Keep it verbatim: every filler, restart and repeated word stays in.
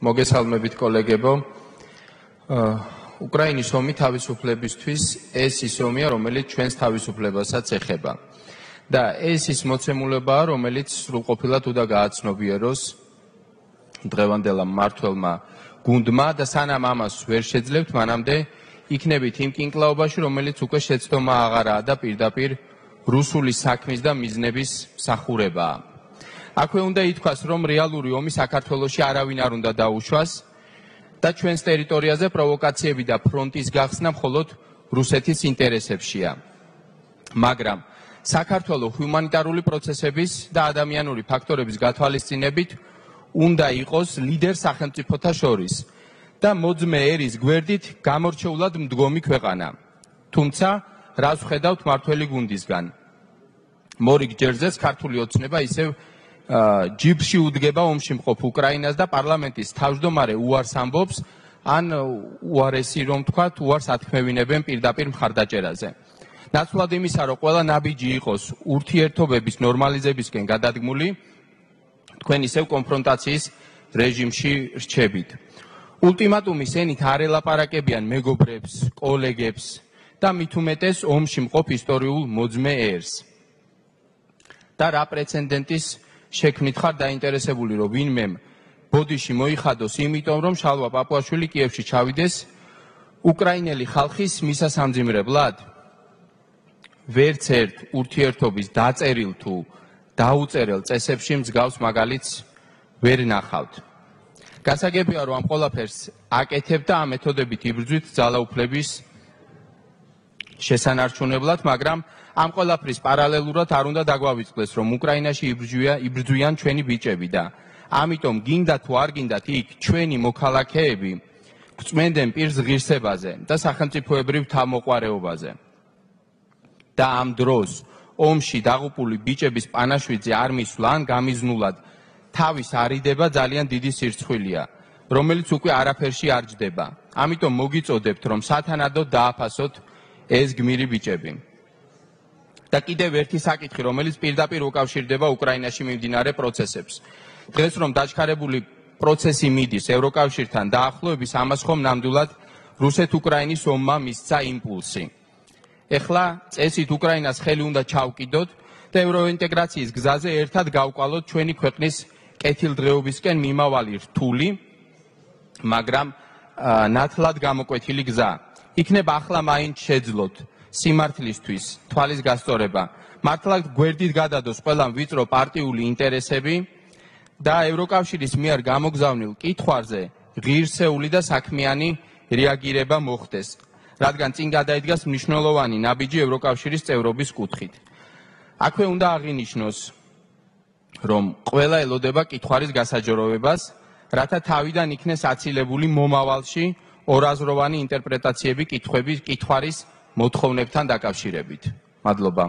მოგესალმებით კოლეგებო. უკრაინის ომი თავისუფლებისთვის ეს ის ომია, რომელიც ჩვენს თავისუფლებასაც ეხება. და ეს ის მოცემულებაა, რომელიც სრულყოფილად უნდა გააცნობიეროს დღევანდელ მმართველმა გუნდმა და სანამ ამას ვერ შეძლებთ, მანამდე იქნებით იმ კინკლაობაში, რომელიც უკვე შეცდომა აღარაა და პირდაპირ რუსული საქმის და მიზნების მსახურებაა. აქვე უნდა ითქვას, რომ რეალური ომი საქართველოში არავინ არ უნდა დაუშვას და ჩვენს ტერიტორიაზე პროვოკაციები და ფრონტის გახსნა მხოლოდ რუსეთის ინტერესებშია. მაგრამ საქართველოს ჰუმანიტარული პროცესების და ადამიანური ფაქტორების გათვალისწინებით უნდა იყოს ლიდერ სახელმწიფოთა შორის და მოძმე ერის გვერდით გამორჩეულად მდგომი ქვეყანა. თუმცა, რას ვხედავთ მმართველი გუნდისგან? მორიგ ჯერზეც ქართული ოცნება ისევ ჯიბში უდგება ომში მყოფ უკრაინას და პარლამენტის თავმჯდომარე უარს ამბობს, ან უარესი რომ თქვათ, უარს ათქმევინებენ პირდაპირ მხარდაჭერაზე. ნაცვლად იმისა, რომ ყველა ნაბიჯი იყოს ურთიერთობების ნორმალიზებისკენ გადადგმული, თქვენ ისევ კონფრონტაციის რეჟიმში რჩებით. ულტიმატუმის ენით არ ელაპარაკებიან მეგობრებს, კოლეგებს და მით უმეტეს ომში მყოფ ისტორიულ მოძმე ერს. და რა პრეცედენტის შექმნით ხარ დაინტერესებული, რომ ვინმე ბოდიში მოიხადოს, იმიტომ რომ შალვა პაპუაშვილი კიევში ჩავიდეს უკრაინელი ხალხის მისასამძიმრებლად? ვერც ერთ ურთიერთობის დაწერილ თუ დაუწერელ წესებში მსგავს მაგალითს ვერ ნახავთ. გასაგებია, რომ ამ ყველაფერს აკეთებ და ამ მეთოდებით იბრძვით ძალაუფლების შესანარჩუნებლად, მაგრამ ამ ყველაფრის პარალელურად არ უნდა დაგვავიწყდეს, რომ უკრაინაში იბრძვიან ჩვენი ბიჭები და ამიტომ გინდა თუ არ გინდათ იქ ჩვენი მოქალაქეები გვწმენდნენ პირს ღირსებაზე და სახელმწიფოებრივ თავმოყვარეობაზე. და ამ დროს ომში დაღუპული ბიჭების პანაშვიდზე არ მისვლა ან გამიზნულად თავის არიდება ძალიან დიდი სირცხვილია, რომელიც უკვე არაფერში არ ჯდება. ამიტომ მოგიწოდებთ, რომ სათანადოდ დააფასოთ ეს გმირი ბიჭები. და კიდევ ერთი საკითხი, რომელიც პირდაპირ უკავშირდება უკრაინაში მიმდინარე პროცესებს. დღეს რომ დაჩქარებული პროცესი მიდის ევროკავშირთან დაახლოების, ამას ხომ ნამდვილად რუსეთ-უკრაინის ომმა მისცა იმპულსი. ეხლა წესით უკრაინას ხელი უნდა ჩავკიდოთ და ევროინტეგრაციის გზაზე ერთად გავყვალოთ ჩვენი ქვეყნის კეთილდღეობისკენ მიმავალი რთული, მაგრამ ნათლად გამოკვეთილი გზა. იქნება ახლა მაინც შეძლოთ სიმართლისთვის თვალის გასწორება, მართლაც გვერდით გადადოს ყველა ვიწრო პარტიული ინტერესები და ევროკავშირის მიერ გამოგზავნილ კითხვაზე ღირსეული და საქმიანი რეაგირება მოხდეს, რადგან წინ გადაიდგას მნიშვნელოვანი ნაბიჯი ევროკავშირის წევრობის კუთხით. აქვე უნდა აღინიშნოს, რომ ყველა ელოდება კითხვარის გასაჯროვებას, რათა თავიდან იქნეს აცილებული მომავალში ორაზროვანი ინტერპრეტაციები კითხვების კითხვარის მოთხოვნებთან დაკავშირებით. მადლობა.